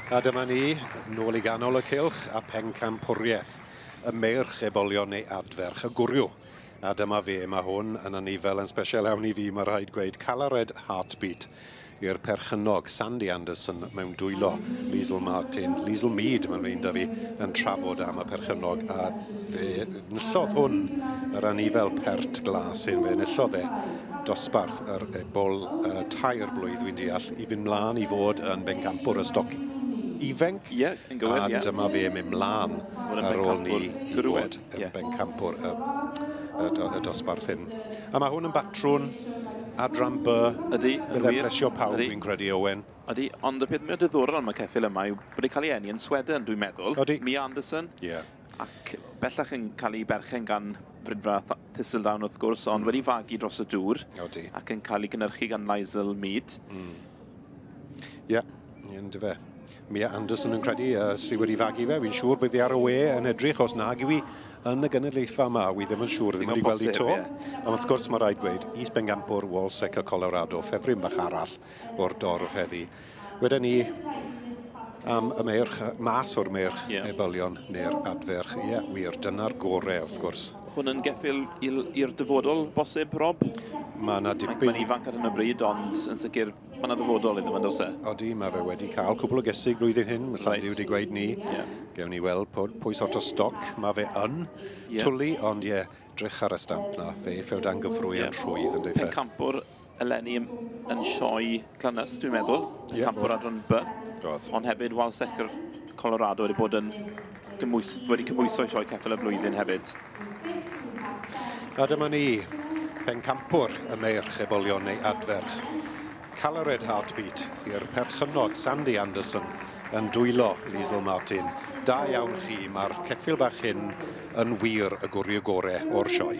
A dyma ni, nôl i ganol y cylch a pencampwriaeth. Y meirch ebolion neu adferch y gwryw. A dyma fe, mae hwn yn anifel yn special iawn i fi, mae rhaid gweud, Calared Heartbeat i'r perchennog Sandy Anderson mewn dwylo Liesl Martin. Liesl Mead, mae'n rhaid da fi, yn trafod am y perchennog, a fe enillodd hwn yr anifel pert glas hyn, fe enillodd e dosbarth yr ebol 3 blwydd, dwi'n deall, i fynd mlaen i fod yn bencampwr y stoc ifenc. Ie, yn gywir, ie. A dyma fe mynd mlaen ar ôl ni i fod yn bencampwr y dosbarth hyn. A mae hwn yn batrwn adran B. Ydy, yn wir. Bydd e'n plesio pawb, fi'n credu, Owen. Ydy, ond y peth mwy diddorol am y ceffyl yma yw bod e'n cael ei eni yn Sweden, dwi'n meddwl. Ydy. Mia Anderson. Ie. Ac bellach yn cael ei berchen gan Fridfa Thistledown, wrth gwrs, ond wedi fagu dros y dŵr. Ydy. Ac yn cael ei gynhyrchu gan Liesl Mead. Ie, yndyfe. Mia Anderson yn credu sydd wedi fagu fe. Fi'n siŵr bydd hi ar y we yn edrych, os nag yw hi yn y gynulleidfa yma. Wi ddim yn siŵr, ddim wedi gweld hi to. Ond wrth gwrs mae rhaid gweud, is-bencampwr Walsecker Colorado, ffefryn bach arall o'r dorf heddi. Wedyn ni am y meirch, mas o'r meirch ebolion neu'r adferch. Ie, wir, dyna'r gore wrth gwrs. Hwn yn geffyl i'r dyfodol bosib, Rob? Mae yna dipyn... Mae'n ifanc ar hyn o bryd, ond yn sicr mae yna ddyfodol iddo fe, does e? Odi, mae fe wedi cael cwpl o gesig blwyddyn hyn, mae Sandy wedi gweud ni. Gewn ni weld pwy sort o stoc mae fe yn twlu, ond ie, drych ar y stamp na, fe ffew dan gyfrwy yn rhwydd yn dweud. Pencampwr eleni yn sioe Glanys, dwi'n meddwl. Pencampwr adran B. Ond hefyd Walsecker Colorado wedi bod yn wedi cymhwyso i sioe ceffyl y flwyddyn hefyd. A dyma ni, pencampwr y meirch ebolion neu adferch. Calared Heartbeat i'r perchennog Sandy Anderson yn dwylo Liesl Martin. Da iawn chi, mae'r ceffyl bach hyn yn wir y gwrio gore o'r sioe.